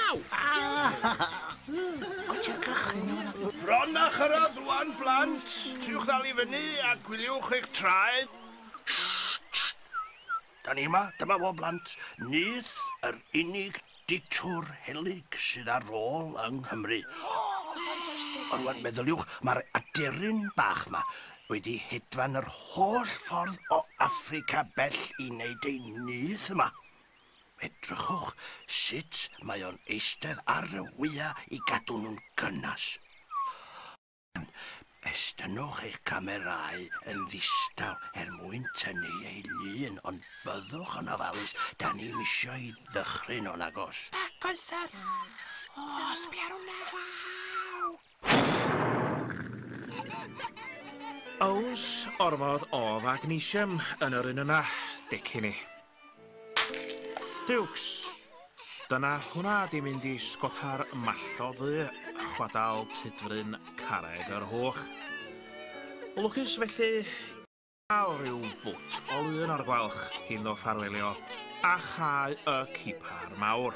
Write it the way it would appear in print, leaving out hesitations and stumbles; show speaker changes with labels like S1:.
S1: Waw!
S2: Bron a chyrraedd rwan, blant. Triwch ddal i fyny a gwyliwch eich traed. Shh, shh. Da ni yma, dyma fo, blant. Nyth yr unig ditwr helyg sydd ar ôl yng Nghymru. Ond rwan, meddyliwch, mae'r aderyn bach 'ma wedi hedfan yr holl ffordd o Affrica bell i wneud ei nyth yma. Edrychwch sut mae o'n eistedd ar y wya i gadw nhw'n gynnas. Estynnwch eich camerâu yn ddistaw er mwyn tynnu ei lun, ond byddwch yn ofalus, da ni'm isio i ddychryn o nagos.
S1: Nagoes, sir. O, sbia ar hwnna. Waw!
S3: Ows ormod o fagnesium yn yr un yna, decin i. Duwcs, dyna hwnna di mynd i sgota'r mallto ddu, chwadal Tudfryn Carreg yr Hwch. Lwcus felly gael rhyw bwt o lun o'r gwalch cyn ddo ffarwelio a chau y cipar mawr.